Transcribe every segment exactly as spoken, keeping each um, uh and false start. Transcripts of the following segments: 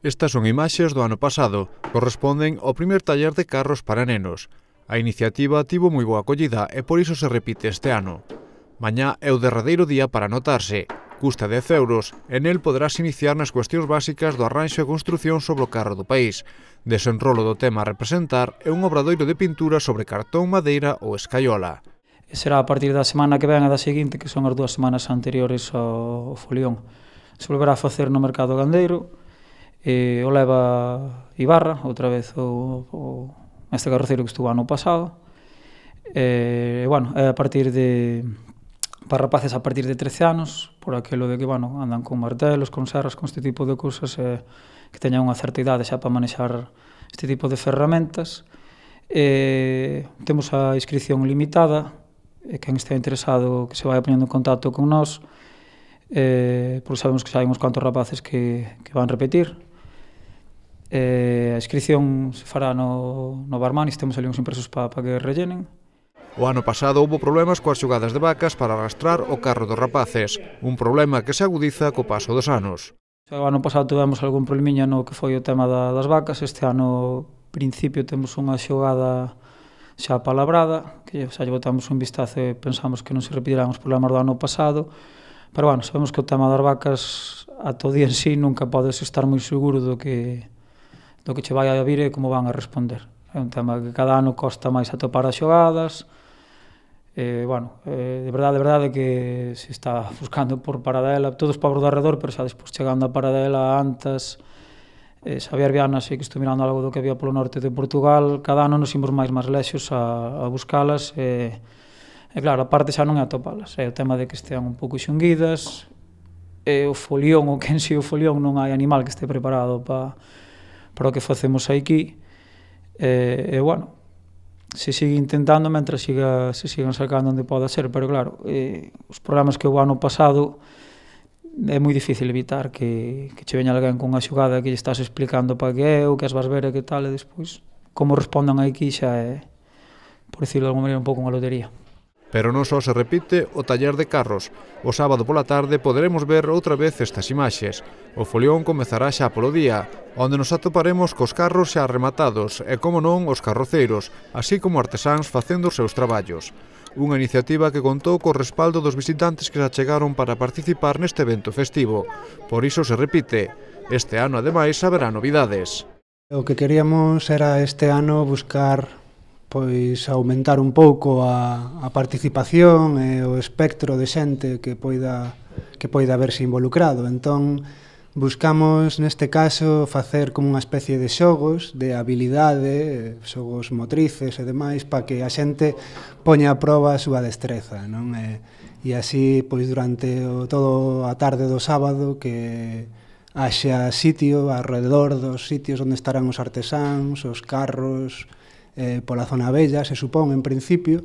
Estas son imaxes do ano pasado, corresponden ao primer taller de carros para nenos. A iniciativa tivo moi boa acollida e por iso se repite este ano. Mañá é o derradeiro día para anotarse. Custa dez euros e nel poderás iniciar nas cuestións básicas do arranxo e construción sobre o carro do país. Desenrolo do tema a representar é un obradoiro de pintura sobre cartón, madeira ou escaiola. Será a partir da semana que ven e da seguinte, que son as dúas semanas anteriores ao folión. Se volverá a facer no mercado gandeiro, e o leva Ibarra, outra vez o, o este carroceiro que estuvo ano pasado. E, bueno, é a partir de, para rapaces a partir de trece anos, por aquilo de que, bueno, andan con martelos, con serras, con este tipo de cousas, e, que teñan unha certa idade xa para manexar este tipo de ferramentas. E, temos a inscripción limitada, e quen este interesado que se vai poñendo en contacto con nós, eh, porque sabemos que xa hai uns cuantos rapaces que, que van repetir. Eh, a inscripción se fará no, no Barmanis, temos ali uns impresos para pa que rellenen. O ano pasado houbo problemas coas xogadas de vacas para arrastrar o carro dos rapaces, un problema que se agudiza co paso dos anos. O ano pasado tivemos algún problemiña no que foi o tema da, das vacas, este ano, principio, temos unha xogada xa palabrada, que xa lle botamos un vistazo e pensamos que non se repetirán os problemas do ano pasado, pero, bueno, sabemos que o tema das vacas, ata o día en sí, nunca podes estar moi seguro do que do que che vai a vir e como van a responder. É un tema que cada ano costa máis atopar as xogadas, e, bueno, eh, de verdade, de verdade que se está buscando por Paradela, todos pobres do arredor, pero xa despois chegando a Paradela, Antas, eh, Xavier Viana, sei que estou mirando algo do que había polo norte de Portugal, cada ano nos imos máis máis lexos a, a buscalas, e, e claro, a parte xa non é atopalas, é o tema de que estean un pouco xunguidas, e o folión, ou que en si o folión non hai animal que este preparado para para o que facemos aquí, e, e bueno, se sigue intentando mentre siga, se sigan sacando onde poda ser, pero claro, eh, os problemas que o ano pasado é moi difícil evitar que, que che veña alguén con unha xogada que lle estás explicando para que é, ou que as vas ver e que tal, e despois, como respondan aquí xa é, por decirlo de alguma maneira, un pouco unha lotería. Pero non só se repite o taller de carros. O sábado pola tarde poderemos ver outra vez estas imaxes. O folión comezará xa polo día, onde nos atoparemos cos carros xa rematados e, como non, os carroceiros, así como artesáns facendo os seus traballos. Unha iniciativa que contou co respaldo dos visitantes que se achegaron para participar neste evento festivo. Por iso se repite. Este ano, ademais, haberá novidades. O que queríamos era este ano buscar pois aumentar un pouco a, a participación e o espectro de xente que poida que poida verse involucrado. Entón, buscamos neste caso facer como unha especie de xogos de habilidade, xogos motrices e demais, para que a xente poña a proba a súa destreza, non? E, e así, pois durante o, todo a tarde do sábado, que haxa sitio alrededor dos sitios onde estarán os artesáns, os carros, Eh, pola zona bella, se supón, en principio,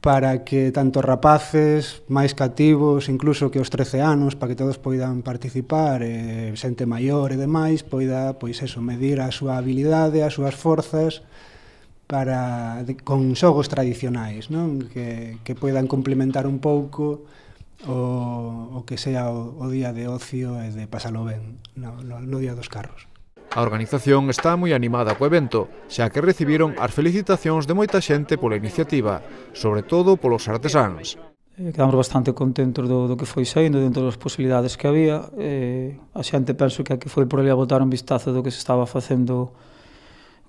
para que tanto rapaces máis cativos, incluso que os trece anos, para que todos poidan participar, eh, xente maior e demais, poida, pois eso, medir a súa habilidade, as súas forzas, para, de, con xogos tradicionais, non? Que, que poidan complementar un pouco o, o que sea o, o día de ocio e de pasalo ben no, no, no día dos carros. A organización está moi animada co evento, xa que recibiron as felicitacións de moita xente pola iniciativa, sobre todo polos artesáns. Eh, quedamos bastante contentos do, do que foi saindo dentro das posibilidades que había. Eh, a xente penso que aquí foi por ali a botar un vistazo do que se estaba facendo,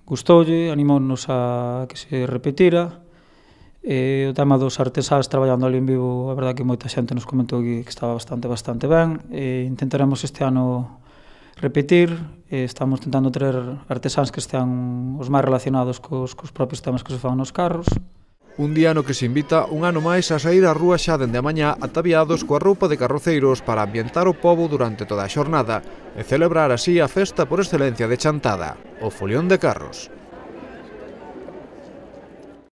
gustoulle, animounos a que se repetira. E o tema dos artesáns traballando ali en vivo, a verdade que moita xente nos comentou que, que estaba bastante, bastante ben. E intentaremos este ano repetir, e estamos tentando traer artesáns que estean os máis relacionados cos, cos propios temas que se fan nos carros. Un día no que se invita un ano máis a saír á rúa xa dende a mañá ataviados coa roupa de carroceiros para ambientar o pobo durante toda a xornada e celebrar así a festa por excelencia de Chantada, o folión de carros.